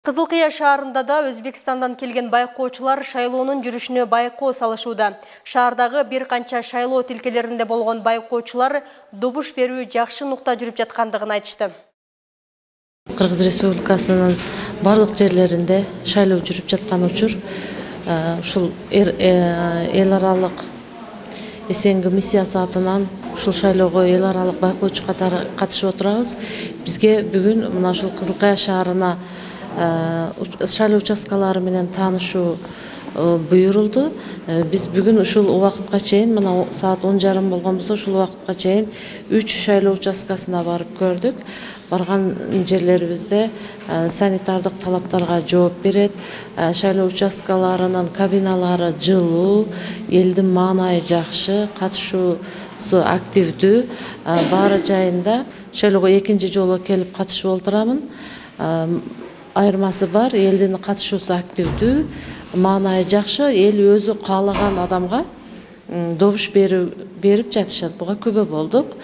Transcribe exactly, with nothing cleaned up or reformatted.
Кызыл Кыя шаарында да Өзбекстандан келген байкоочулар шайлоонун жүрүшүнө байкоо салышууда. Шаардагы бир канча шайлоо тилкелеринде болгон байкоочулар добуш берүү жакшы нукта жүрүп жаткандыгын айтышты. Кыргыз Республикасынын бардык жерлеринде шайлоо жүрүп жаткан учур ушул эл аралык СНГ миссиясы атынан ушул шайлоого эл аралык байкоочу катары катышып отурабыз. Бизге бүгүн мына ушул Кызыл Кыя шаарына шайлоо участкалары менен таанышуу буйрулду. Биз бүгүн ушул убакытка чейин, мына саат он жарым болгон болсо, ушул убакытка чейин үч шайлоо участкасына барып көрдүк. Барган жерлерибизде санитардык талаптарга жооп берет, шайлоо участкаларынын кабиналары жылуу, элдин маанайы жакшы, катышуусу активдүү. Баары жайында шайлоого экинчи жолу келип катышып отурамын. Айырмасы бар, элдин катышуусу активдүү, маанайы жакшы, эл өзү каалаган адамга добуш берип жатышат. Буга күбө болдук.